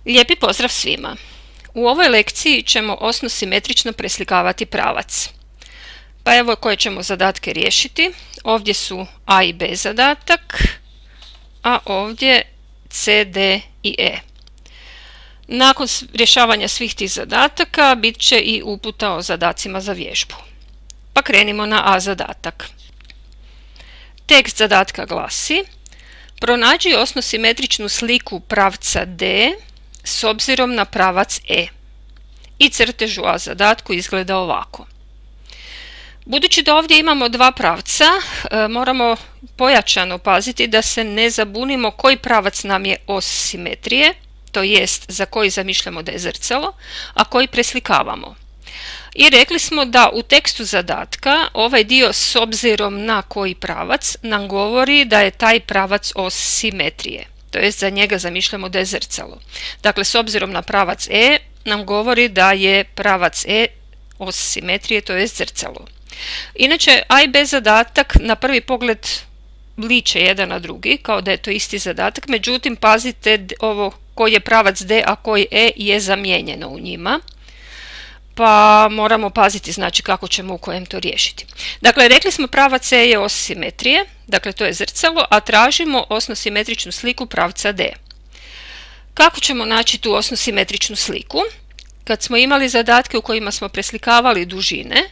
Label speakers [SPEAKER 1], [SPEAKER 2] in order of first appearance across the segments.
[SPEAKER 1] Lijepi pozdrav svima! U ovoj lekciji ćemo osno-simetrično preslikavati pravac. Pa evo koje ćemo zadatke riješiti. Ovdje su A i B zadatak, a ovdje C, D i E. Nakon rješavanja svih tih zadataka bit će i uputa o zadacima za vježbu. Pa krenimo na A zadatak. Tekst zadatka glasi: pronađi osno-simetričnu sliku pravca D s obzirom na pravac E. I crtež u A zadatku izgleda ovako. Budući da ovdje imamo dva pravca, moramo pojačano paziti da se ne zabunimo koji pravac nam je os simetrije, to jest za koji zamišljamo da je zrcalo, a koji preslikavamo. I rekli smo da u tekstu zadatka ovaj dio s obzirom na koji pravac nam govori da je taj pravac os simetrije, to jest za njega zamišljamo da je zrcalo. Dakle, s obzirom na pravac E nam govori da je pravac E os simetrije, to jest zrcalo. Inače, A i B zadatak na prvi pogled liče jedan na drugi, kao da je to isti zadatak, međutim pazite ovo koji je pravac D, a koji E je zamijenjeno u njima. Pa moramo paziti znači kako ćemo u kojem to riješiti. Dakle, rekli smo pravac E je os simetrije, dakle to je zrcalo, a tražimo osno-simetričnu sliku pravca D. Kako ćemo naći tu osno-simetričnu sliku? Kad smo imali zadatke u kojima smo preslikavali dužine,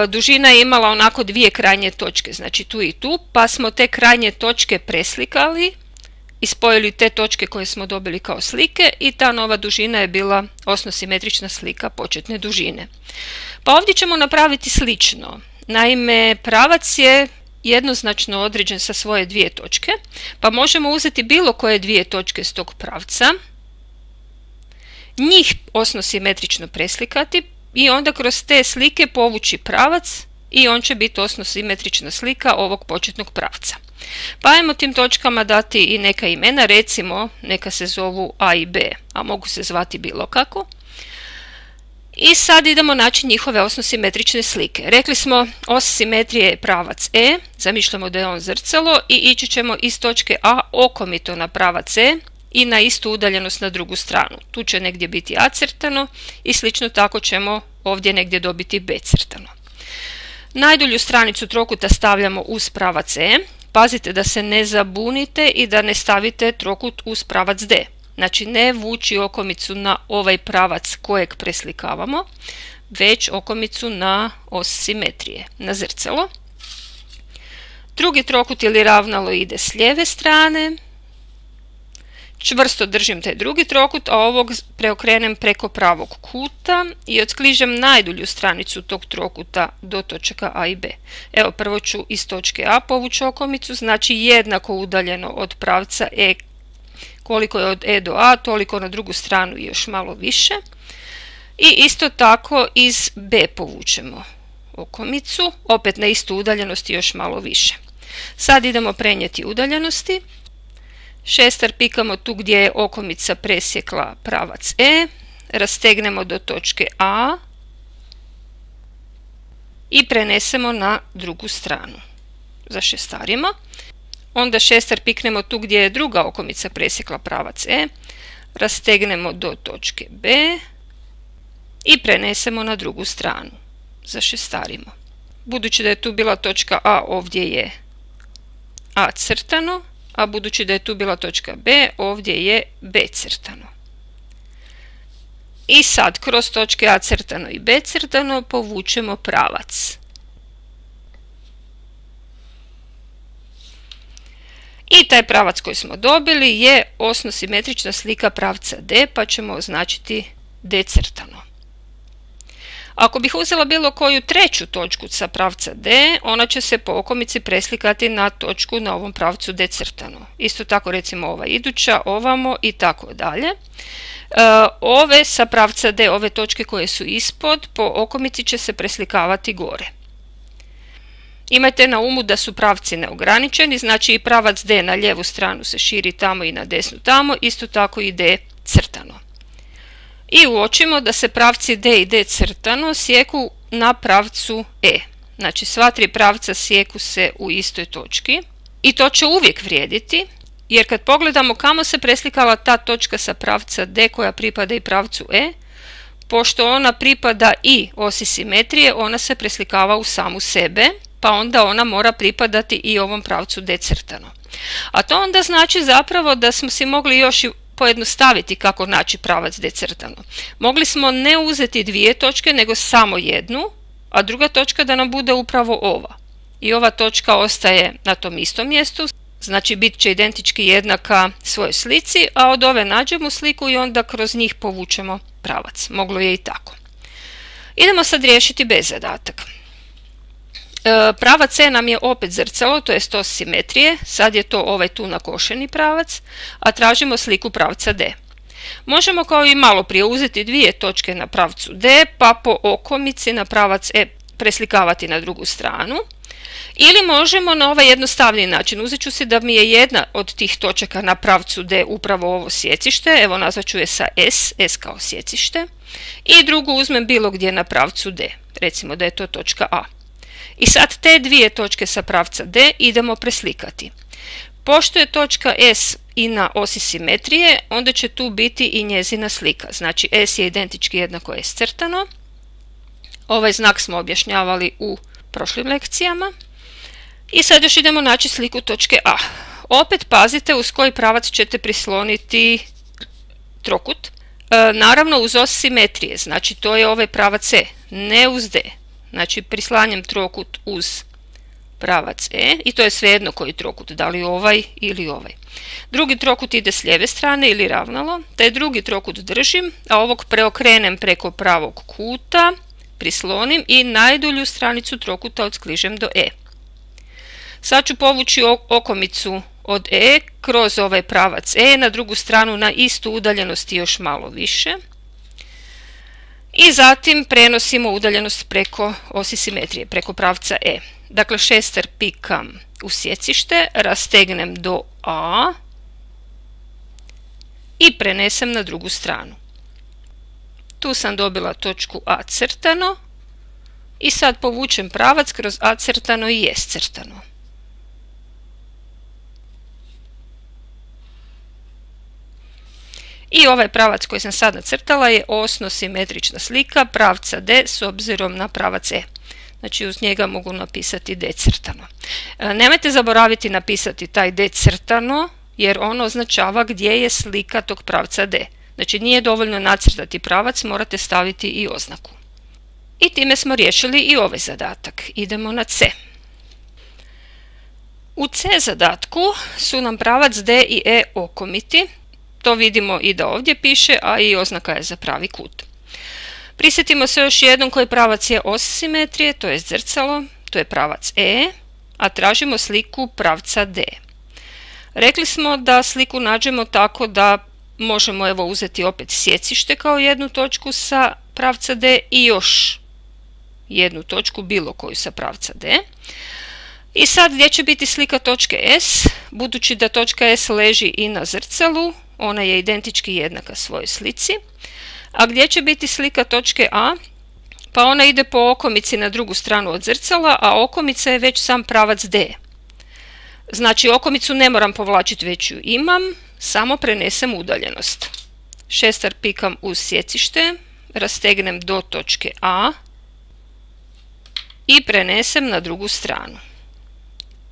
[SPEAKER 1] dužina je imala onako dvije krajnje točke, znači tu i tu, pa smo te krajnje točke preslikali i spojili te točke koje smo dobili kao slike i ta nova dužina je bila osno-simetrična slika početne dužine. Pa ovdje ćemo napraviti slično. Naime, pravac je jednoznačno određen sa svoje dvije točke, pa možemo uzeti bilo koje dvije točke s tog pravca, njih osno-simetrično preslikati i onda kroz te slike povući pravac i on će biti osno-simetrična slika ovog početnog pravca. Pa ajmo tim točkama dati i neka imena, recimo neka se zovu A i B, a mogu se zvati bilo kako. I sad idemo naći njihove osno-simetrične slike. Rekli smo os simetrije je pravac E, zamišljamo da je on zrcalo i ići ćemo iz točke A okomito na pravac E i na istu udaljenost na drugu stranu. Tu će negdje biti A crtano i slično tako ćemo ovdje negdje dobiti B crtano. Najdulju stranicu trokuta stavljamo uz pravac E. Pazite da se ne zabunite i da ne stavite trokut uz pravac D. Znači ne vući okomicu na ovaj pravac kojeg preslikavamo, već okomicu na os simetrije, na zrcalo. Drugi trokut ili ravnalo ide s lijeve strane. Čvrsto držim taj drugi trokut, a ovog preokrenem preko pravog kuta i otkližem najdulju stranicu tog trokuta do točaka A i B. Evo, prvo ću iz točke A povući okomicu, znači jednako udaljeno od pravca E, koliko je od E do A, toliko na drugu stranu i još malo više. I isto tako iz B povučemo okomicu, opet na istu udaljenost i još malo više. Sad idemo prenijeti udaljenosti. Šestar pikamo tu gdje je okomica presjekla pravac E, rastegnemo do točke A i prenesemo na drugu stranu. Zašestarimo. Onda šestar piknemo tu gdje je druga okomica presjekla pravac E, rastegnemo do točke B i prenesemo na drugu stranu. Zašestarimo. Budući da je tu bila točka A, ovdje je A crtano, a budući da je tu bila točka B, ovdje je B crtano. I sad kroz točke A crtano i B crtano povučemo pravac. I taj pravac koji smo dobili je osno-simetrična slika pravca D, pa ćemo označiti D crtano. Ako bih uzela bilo koju treću točku sa pravca D, ona će se po okomici preslikati na točku na ovom pravcu D crtano. Isto tako recimo ova iduća, ovamo i tako dalje. Ove sa pravca D, ove točke koje su ispod, po okomici će se preslikavati gore. Imajte na umu da su pravci neograničeni, znači i pravac D na lijevu stranu se širi tamo i na desnu tamo, isto tako i D crtano. I uočimo da se pravci D i D crtano sjeku na pravcu E. Znači sva tri pravca sjeku se u istoj točki i to će uvijek vrijediti jer kad pogledamo kamo se preslikala ta točka sa pravca D koja pripada i pravcu E, pošto ona pripada i osi simetrije, ona se preslikava u samu sebe, pa onda ona mora pripadati i ovom pravcu D crtano. A to onda znači zapravo da smo si mogli još i pojednostaviti kako naći pravac D crtano. Mogli smo ne uzeti dvije točke, nego samo jednu, a druga točka da nam bude upravo ova. I ova točka ostaje na tom istom mjestu, znači bit će identički jednaka svojoj slici, a od ove nađemo sliku i onda kroz njih povučemo pravac. Moglo je i tako. Idemo sad riješiti B zadatak. Pravac E nam je opet zrcalo, to jest os simetrije, sad je to ovaj tu nakošeni pravac, a tražimo sliku pravca D. Možemo kao i malo prije uzeti dvije točke na pravcu D, pa po okomici na pravac E preslikavati na drugu stranu. Ili možemo na ovaj jednostavniji način. Uzet ću si da mi je jedna od tih točaka na pravcu D upravo ovo sjecište, evo nazvat ću je sa S, S kao sjecište, i drugu uzmem bilo gdje na pravcu D, recimo da je to točka A. I sad te dvije točke sa pravca D idemo preslikati. Pošto je točka S i na osi simetrije, onda će tu biti i njezina slika. Znači S je identički jednako S crtano. Ovaj znak smo objašnjavali u prošlim lekcijama. I sad još idemo naći sliku točke A. Opet pazite uz koji pravac ćete prisloniti trokut. Naravno uz os simetrije, znači to je ovaj pravac E, ne uz D. Znači prislanjem trokut uz pravac E i to je svejedno koji trokut, da li ovaj ili ovaj. Drugi trokut ide s lijeve strane ili ravnalo, taj drugi trokut držim, a ovog preokrenem preko pravog kuta, prislonim i najdulju stranicu trokuta odskližem do E. Sad ću povući okomicu od E kroz ovaj pravac E na drugu stranu na istu udaljenost i još malo više. I zatim prenosimo udaljenost preko osi simetrije, preko pravca E. Dakle, šestar pikam u sjecište, rastegnem do A i prenesem na drugu stranu. Tu sam dobila točku A crtano i sad povučem pravac kroz A crtano i S crtano. I ovaj pravac koji sam sad nacrtala je osno simetrična slika pravca D s obzirom na pravac E. Znači uz njega mogu napisati D crtano. Nemojte zaboraviti napisati taj D crtano jer ono označava gdje je slika tog pravca D. Znači nije dovoljno nacrtati pravac, morate staviti i oznaku. I time smo riješili i ovaj zadatak. Idemo na C. U C zadatku su nam pravac D i E okomiti. To vidimo i da ovdje piše, a i oznaka je za pravi kut. Prisjetimo se još jednom koji pravac je os simetrije, to je zrcalo, to je pravac E, a tražimo sliku pravca D. Rekli smo da sliku nađemo tako da možemo evo uzeti opet sjecište kao jednu točku sa pravca D i još jednu točku bilo koju sa pravca D. I sad gdje će biti slika točke S, budući da točka S leži i na zrcalu, ona je identički jednaka svojoj slici. A gdje će biti slika točke A? Pa ona ide po okomici na drugu stranu od zrcala, a okomica je već sam pravac D. Znači okomicu ne moram povlačiti, već ju imam, samo prenesem udaljenost. Šestar pikam uz sjecište, rastegnem do točke A i prenesem na drugu stranu.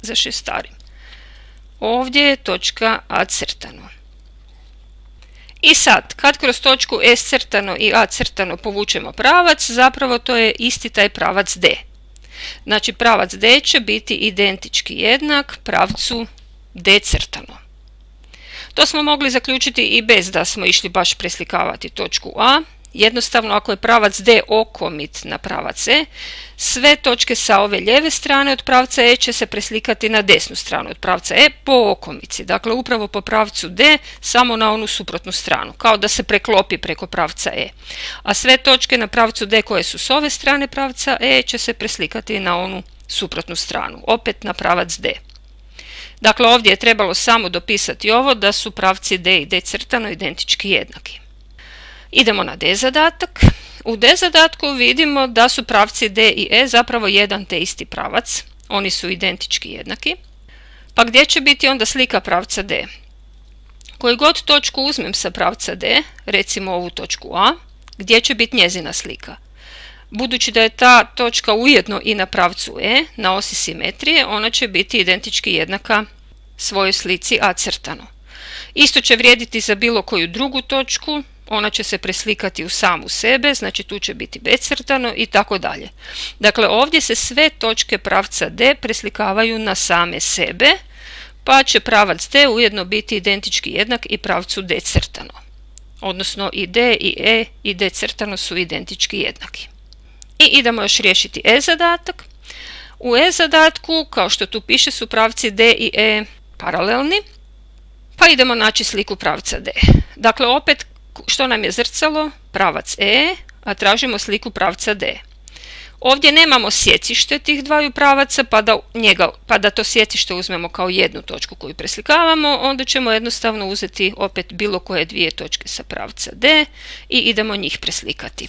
[SPEAKER 1] Zašestarim. Ovdje je točka A crtano. I sad, kad kroz točku S crtano i A crtano povučemo pravac, zapravo to je isti taj pravac D. Znači pravac D će biti identički jednak pravcu D crtano. To smo mogli zaključiti i bez da smo išli baš preslikavati točku A. Jednostavno, ako je pravac D okomit na pravac E, sve točke sa ove lijeve strane od pravca E će se preslikati na desnu stranu od pravca E po okomici. Dakle, upravo po pravcu D, samo na onu suprotnu stranu, kao da se preklopi preko pravca E. A sve točke na pravcu D koje su s ove strane pravca E će se preslikati na onu suprotnu stranu, opet na pravac D. Dakle, ovdje je trebalo samo dopisati ovo da su pravci D i D crtano identički jednaki. Idemo na D zadatak. U D zadatku vidimo da su pravci D i E zapravo jedan te isti pravac. Oni su identički jednaki. Pa gdje će biti onda slika pravca D? Koju god točku uzmem sa pravca D, recimo ovu točku A, gdje će biti njezina slika? Budući da je ta točka ujedno i na pravcu E, na osi simetrije, ona će biti identički jednaka svojoj slici A crtano. Isto će vrijediti za bilo koju drugu točku, ona će se preslikati u samu sebe, znači tu će biti B crtano i tako dalje. Dakle, ovdje se sve točke pravca D preslikavaju na same sebe, pa će pravac D ujedno biti identički jednak i pravcu D crtano. Odnosno i D i E i D crtano su identički jednaki. I idemo još riješiti E zadatak. U E zadatku, kao što tu piše, su pravci D i E paralelni, pa idemo naći sliku pravca D. Dakle, opet, što nam je zrcalo? Pravac E, a tražimo sliku pravca D. Ovdje nemamo sjecište tih dvaju pravaca, pa da to sjecište uzmemo kao jednu točku koju preslikavamo, onda ćemo jednostavno uzeti opet bilo koje dvije točke sa pravca D i idemo njih preslikati.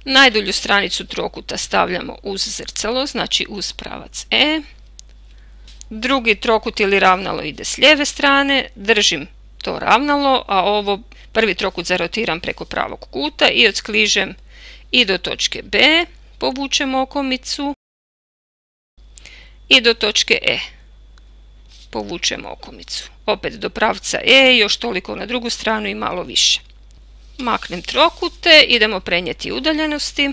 [SPEAKER 1] Najdulju stranicu trokuta stavljamo uz zrcalo, znači uz pravac E. Drugi trokut ili ravnalo ide s lijeve strane, držim to ravnalo, a ovo prvi trokut zarotiram preko pravog kuta i odskližem i do točke B, povučem okomicu i do točke E, povučem okomicu. Opet do pravca E, još toliko na drugu stranu i malo više. Maknem trokute, idemo prenijeti udaljenosti.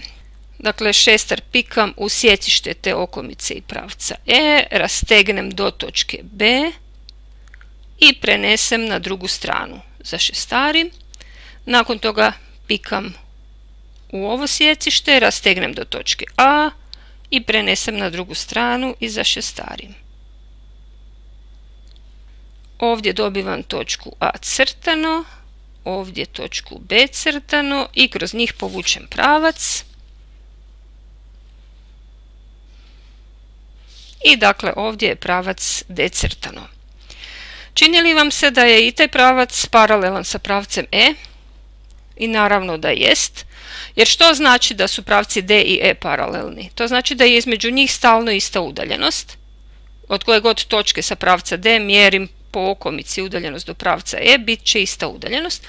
[SPEAKER 1] Dakle, šestar pikam u sjecište te okomice i pravca E, rastegnem do točke B i prenesem na drugu stranu za šestarim. Nakon toga pikam u ovo sjecište, rastegnem do točke A i prenesem na drugu stranu i za šestarim. Ovdje dobivam točku A crtano, ovdje točku B crtano i kroz njih povučem pravac. I dakle, ovdje je pravac D crtano. Čini li vam se da je i taj pravac paralelan sa pravcem E? I naravno da jest. Jer što znači da su pravci D i E paralelni? To znači da je između njih stalno ista udaljenost. Od koje god točke sa pravca D mjerim po okomici udaljenost do pravca E, bit će ista udaljenost.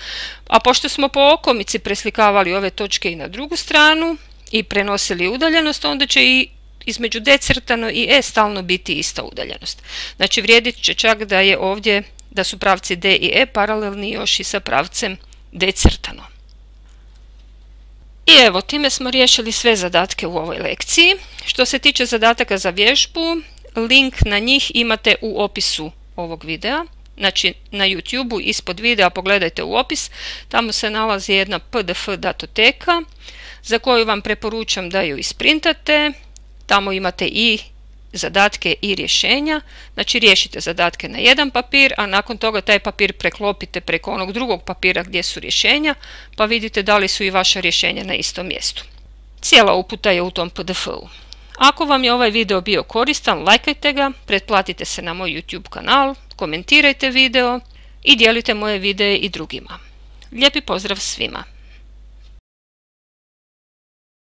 [SPEAKER 1] A pošto smo po okomici preslikavali ove točke i na drugu stranu i prenosili udaljenost, onda će i između D crtano i E stalno biti ista udaljenost. Znači, vrijedit će čak da je ovdje, da su pravci D i E paralelni još i sa pravcem D crtano. I evo, time smo riješili sve zadatke u ovoj lekciji. Što se tiče zadataka za vježbu, link na njih imate u opisu ovog videa. Znači, na YouTube-u ispod videa pogledajte u opis, tamo se nalazi jedna PDF datoteka za koju vam preporučam da ju isprintate. Tamo imate i zadatke i rješenja, znači riješite zadatke na jedan papir, a nakon toga taj papir preklopite preko onog drugog papira gdje su rješenja, pa vidite da li su i vaša rješenja na istom mjestu. Cijela uputa je u tom PDF-u. Ako vam je ovaj video bio koristan, lajkajte ga, pretplatite se na moj YouTube kanal, komentirajte video i dijelite moje videe i drugima. Lijepi pozdrav svima!